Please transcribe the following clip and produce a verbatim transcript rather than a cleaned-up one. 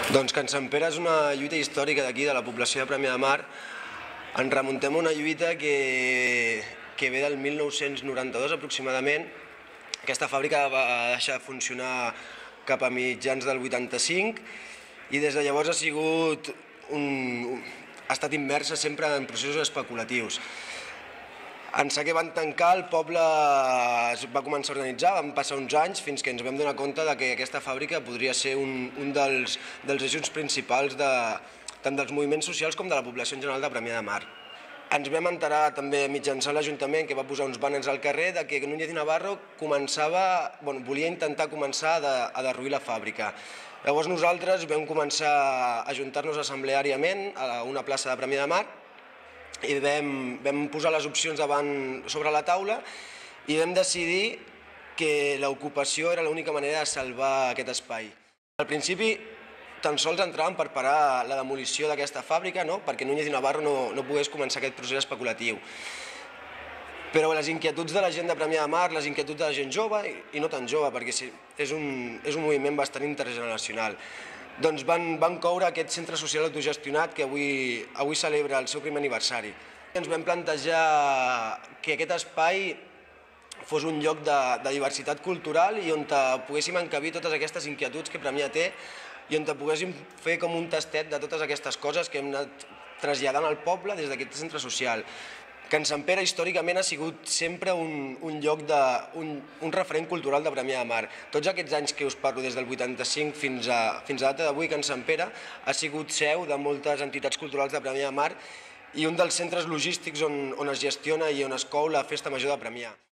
Doncs Can Sant Pere és una lluita històrica d'aquí, de la població de Premià de Mar. Ens remuntem a una lluita que, que ve del mil nou-cents noranta-dos aproximadament. Aquesta fàbrica va deixar de funcionar cap a mitjans del vuitanta-cinc i des de llavors ha sigut un, ha estat immersa sempre en processos especulatius. En ser que van tancar, el poble es va començar a organitzar, van passar uns anys fins que ens vam donar compte de que aquesta fàbrica podria ser un, un dels, dels eixos principals de, tant dels moviments socials com de la població en general de Premià de Mar. Ens vam enterar també mitjançant l'Ajuntament, que va posar uns bàners al carrer, de que Núñez i Navarro començava, bueno, volia intentar començar a, a derruir la fàbrica. Llavors nosaltres vam començar a ajuntar-nos assembleàriament a una plaça de Premià de Mar i vam, vam posar les opcions davant sobre la taula i vam decidir que l'ocupació era l'única manera de salvar aquest espai. Al principi tan sols entraven per parar la demolició d'aquesta fàbrica, no? Perquè Núñez i Navarro no, no pogués començar aquest procés especulatiu. Però les inquietuds de la gent de Premià de Mar, les inquietuds de la gent jove i no tan jove, perquè és un, és un moviment bastant intergeneracional, doncs van, van coure aquest centre social autogestionat que avui, avui celebra el seu primer aniversari. Ens vam plantejar que aquest espai fos un lloc de, de diversitat cultural i on poguéssim encabir totes aquestes inquietuds que Premià té i on poguéssim fer com un tastet de totes aquestes coses que hem anat traslladant al poble des d'aquest centre social. Can Sant Pere històricament ha sigut sempre un, un lloc, de, un, un referent cultural de Premià de Mar. Tots aquests anys que us parlo, des del vuitanta-cinc fins a, fins a data d'avui, Can Sant Pere ha sigut seu de moltes entitats culturals de Premià de Mar i un dels centres logístics on, on es gestiona i on es cou la Festa Major de Premià.